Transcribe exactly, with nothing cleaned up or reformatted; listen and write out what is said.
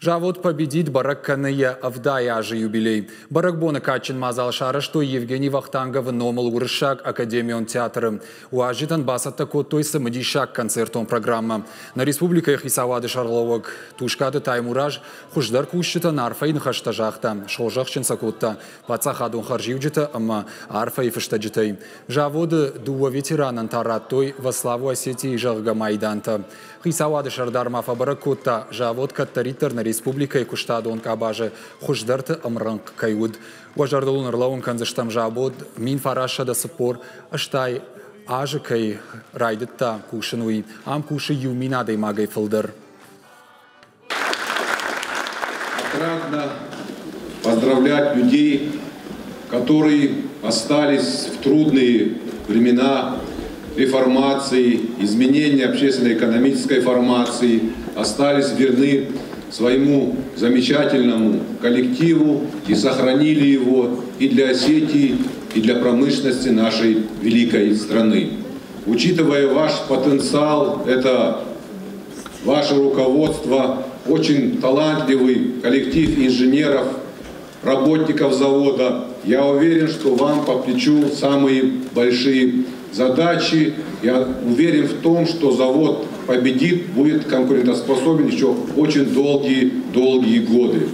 Завод «Победит» бӕрӕг кӕны йӕ ӕвдай азы юбилей. Бӕрӕгбоны кадджын мадзал сарӕзтой Евгений Вахтанговы номыл Уырыссаг академион театры. Уазджытӕн бацӕттӕ кодтой цымыдисаг концертон программӕ. Нӕ республикӕйы хицауады сӕргълӕууӕг Тускъаты Таймураз хуыздӕр кусджытӕн арфӕйы ныхӕстӕ загъта, схорзӕхджын сӕ кодта паддзахадон хӕрзиуджытӕ ӕмӕ арфӕйы фыстӕджытӕй. Заводы дыууӕ ветеранӕн та радтой «Во славу Осетии», зӕгъгӕ, майдантӕ. Хицауады сӕрдар ма фӕбӕрӕг кодта, завод кӕддӕриддӕр нӕ республикӕйы куыстадон къабазы хуыздӕрты ӕмрӕнхъ кӕй уыд. Уӕ зӕрдыл уын ӕрлӕууын кӕндзыстӕм, завод мин фарастсӕдӕ цыппор ӕстай азы кӕй райдыдта кусын, уый. Ам кусы иу мин адӕймагӕй фылдӕр. Отрадно поздравлять людей, которые остались в трудные времена реформации, изменения общественно-экономической формации, остались верны своему замечательному коллективу и сохранили его и для Осетии, и для промышленности нашей великой страны. Учитывая ваш потенциал, это ваше руководство, очень талантливый коллектив инженеров, работников завода, я уверен, что вам по плечу самые большие задачи. Я уверен в том, что завод «Победит» будет конкурентоспособен еще очень долгие-долгие годы.